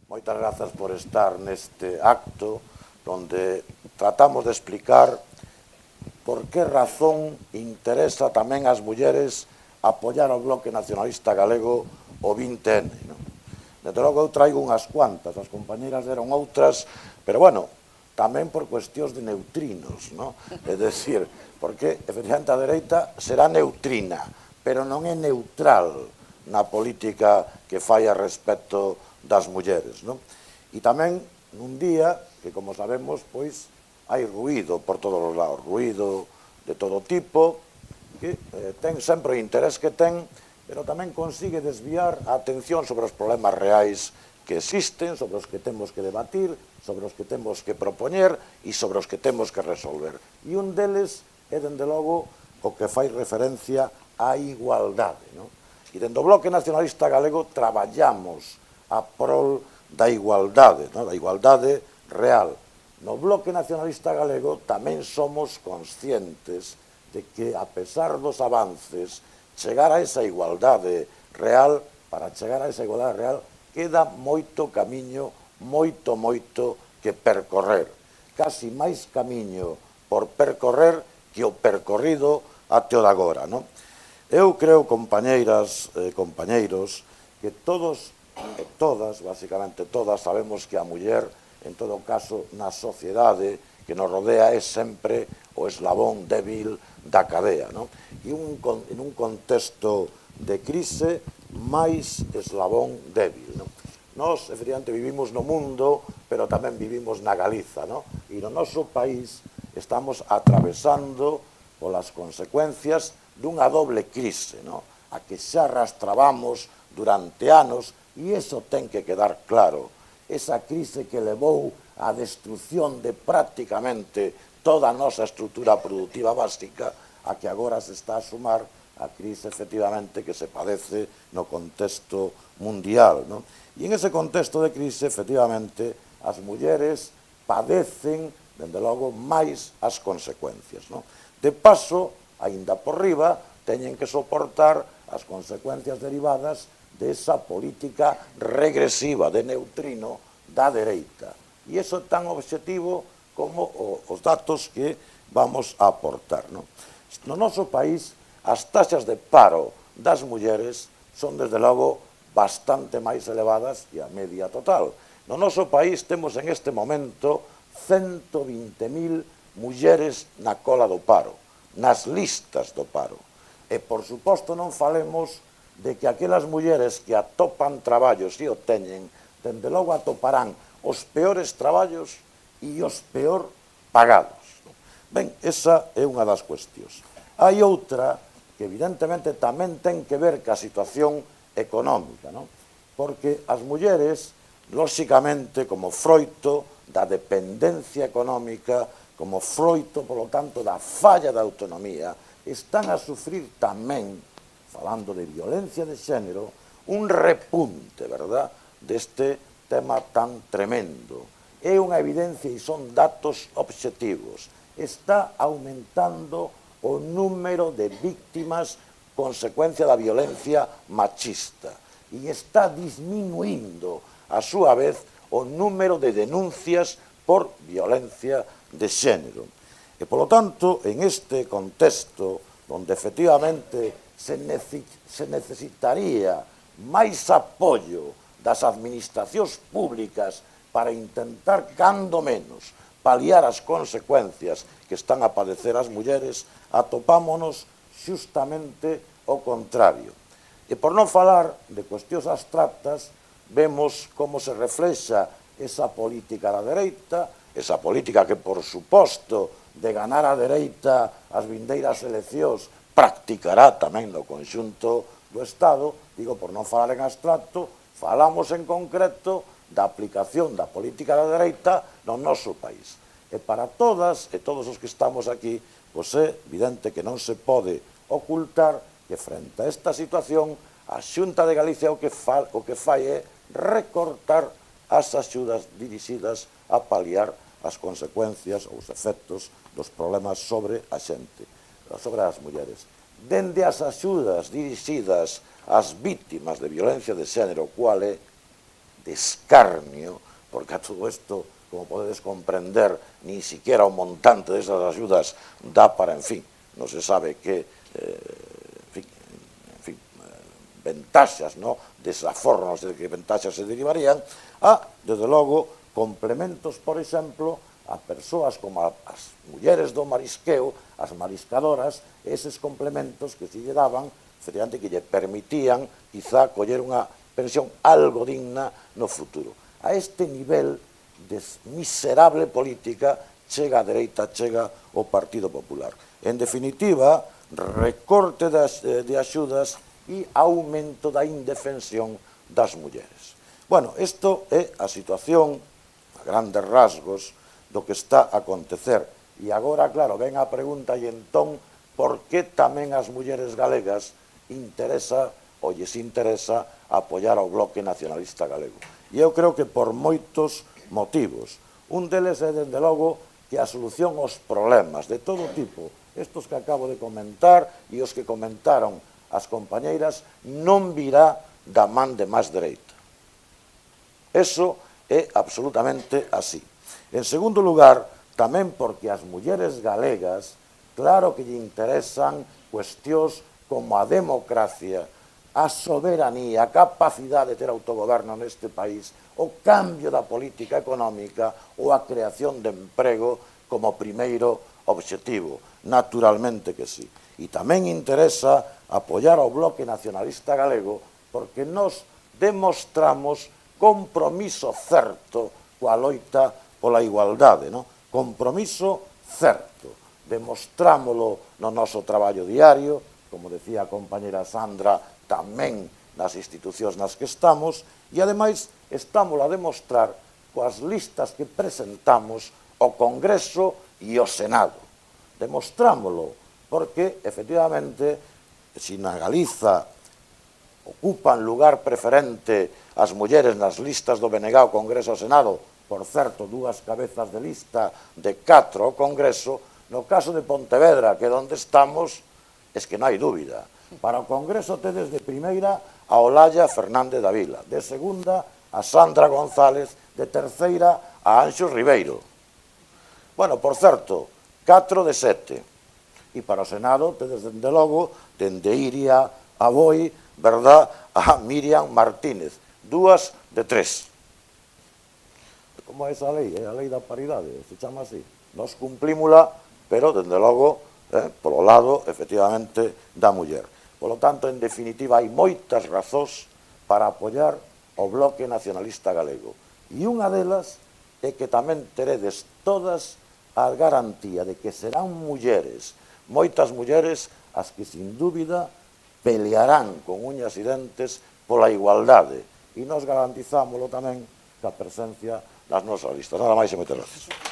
Moitas grazas por estar neste acto onde tratamos de explicar por que razón interesa tamén ás mulleres apoiar o Bloque Nacionalista Galego o 20N. Desde logo eu traigo unhas cuantas, as compañeras deron outras, pero bueno, tamén por cuestións de neutrinos, é dicir, porque efectivamente a dereita será neutrina, pero non é neutral na política que fai a respecto das mulleres. E tamén nun día que, como sabemos, pois hai ruído por todos os lados, ruído de todo tipo, que ten sempre o interés que ten, pero tamén consigue desviar a atención sobre os problemas reais que existen, sobre os que temos que debatir, sobre os que temos que propoñer e sobre os que temos que resolver. E un deles é, dende logo, o que fai referencia á igualdade. E dende o Bloque Nacionalista Galego traballamos a prol da igualdade real. No Bloque Nacionalista Galego tamén somos conscientes de que, a pesar dos avances, chegar a esa igualdade real, para chegar a esa igualdade real, queda moito camiño, moito que percorrer. Casi máis camiño por percorrer que o percorrido até o de agora. Eu creo, compañeiras e compañeiros, que todos e todas, basicamente todas, sabemos que a muller, en todo caso, na sociedade que nos rodea, é sempre o eslabón débil da cadea. E en un contexto de crise, máis eslabón débil. Nós, efectivamente, vivimos no mundo, pero tamén vivimos na Galiza. E no noso país estamos atravesando polas consecuencias dunha doble crise, a que xa arrastrábamos durante anos, e iso ten que quedar claro. Esa crise que levou á destrucción de prácticamente toda a nosa estrutura productiva básica, a que agora se está a sumar a crise, efectivamente, que se padece no contexto mundial. E en ese contexto de crise, efectivamente, as mulleres padecen, dende logo, máis as consecuencias. De paso, aínda por riba, teñen que soportar as consecuencias derivadas desa política regresiva de neutrino da dereita. E iso é tan obxectivo como os datos que vamos a aportar. No noso país, as taxas de paro das mulleres son, desde logo, bastante máis elevadas que a media total. No noso país temos en este momento 120.000 mulleres na cola do paro, nas listas do paro. E, por suposto, non falemos de que aquelas mulleres que atopan traballos e o teñen, dende logo atoparán os peores traballos e os peor pagados. Ben, esa é unha das cuestións. Hai outra que evidentemente tamén ten que ver ca situación económica, porque as mulleres, lóxicamente, como froito da dependencia económica, como froito, polo tanto, da falla da autonomía, están a sufrir tamén, falando de violencia de xénero, un repunte, verdad, deste tema tan tremendo. É unha evidencia e son datos obxectivos. Está aumentando o número de víctimas consecuencia da violencia machista e está disminuindo, a súa vez, o número de denuncias por violencia de xénero. E, polo tanto, en este contexto, onde efectivamente se necesitaría máis apoio das administracións públicas para intentar, cando menos, paliar as consecuencias que están a padecer as mulleres, atopámonos xustamente o contrario. E por non falar de cuestións abstractas, vemos como se reflexa esa política da dereita, esa política que, por suposto, de ganar a dereita as vindeiras eleccións, practicará tamén no conxunto do Estado, digo, por non falar en abstracto, falamos en concreto da aplicación da política da dereita no noso país. E para todas e todos os que estamos aquí, pois é evidente que non se pode ocultar que, frente a esta situación, a Xunta de Galicia o que fai é recortar as axudas dirixidas a paliar as consecuencias ou os efectos dos problemas sobre a xente, sobre as mulleres. Dende as axudas dirixidas ás vítimas de violencia de xénero, cual é de escarnio, porque a todo esto, como podedes comprender, ni siquiera o montante desas axudas dá para, en fin, non se sabe que, ventaxas, no? Desaforro, non sei de que ventaxas se derivarían, a, desde logo, complementos, por exemplo, a persoas como as mulleres do marisqueo, as mariscadoras, eses complementos que se lle daban, efectivamente, que lle permitían, quizá, coller unha pensión algo digna no futuro. A este nivel de miserable política chega a dereita, chega o Partido Popular. En definitiva, recorte de axudas e aumento da indefensión das mulleres. Bueno, isto é a situación, a grandes rasgos, do que está a acontecer. E agora, claro, ven a pregunta, e entón, por que tamén as mulleres galegas interesa ou lles interesa apoiar ao Bloque Nacionalista Galego? E eu creo que por moitos motivos. Un deles é, dende logo, que a solución aos problemas de todo tipo, estos que acabo de comentar e os que comentaron as compañeiras, non virá da man de máis dereita. Eso é absolutamente así. En segundo lugar, tamén porque as mulleres galegas, claro que lle interesan cuestións como a democracia, a soberanía, a capacidade de ter autogoberno neste país, o cambio da política económica ou a creación de emprego como primeiro obxectivo. Naturalmente que sí. E tamén interesa apoiar ao Bloque Nacionalista Galego porque nos demostramos compromiso certo coa loita pola igualdade, non? Compromiso certo. Demostrámolo no noso traballo diario, como decía a compañera Sandra, tamén nas institucións nas que estamos, e ademais estamos a demostrar coas listas que presentamos ao Congreso e ao Senado. Demostrámolo, porque, efectivamente, se na Galiza ocupan lugar preferente as mulleres nas listas do BNG ao Congreso e ao Senado, por certo, dúas cabezas de lista de 4 ao Congreso, no caso de Pontevedra, que é onde estamos, es que non hai dúbida. Para o Congreso tedes de primeira a Olalla Fernández da Vila, de segunda a Sandra González, de terceira a Anxo Ribeiro. Bueno, por certo, 4 de 7. E para o Senado tedes, dende logo, dende Iria a Boi, verdad, a Miriam Martínez, 2 de 3. Como é esa lei? É a lei da paridade, se chama así. Nos cumprímula, pero, dende logo, polo lado, efectivamente, da muller. Polo tanto, en definitiva, hai moitas razóns para apoiar o Bloque Nacionalista Galego. E unha delas é que tamén teredes todas a garantía de que serán mulleres, moitas mulleres, as que, sin dúbida, pelearán con uñas e dentes pola igualdade. E nos garantizámoslo tamén ca presencia nas nosas listas. Nada máis e moitas gracias.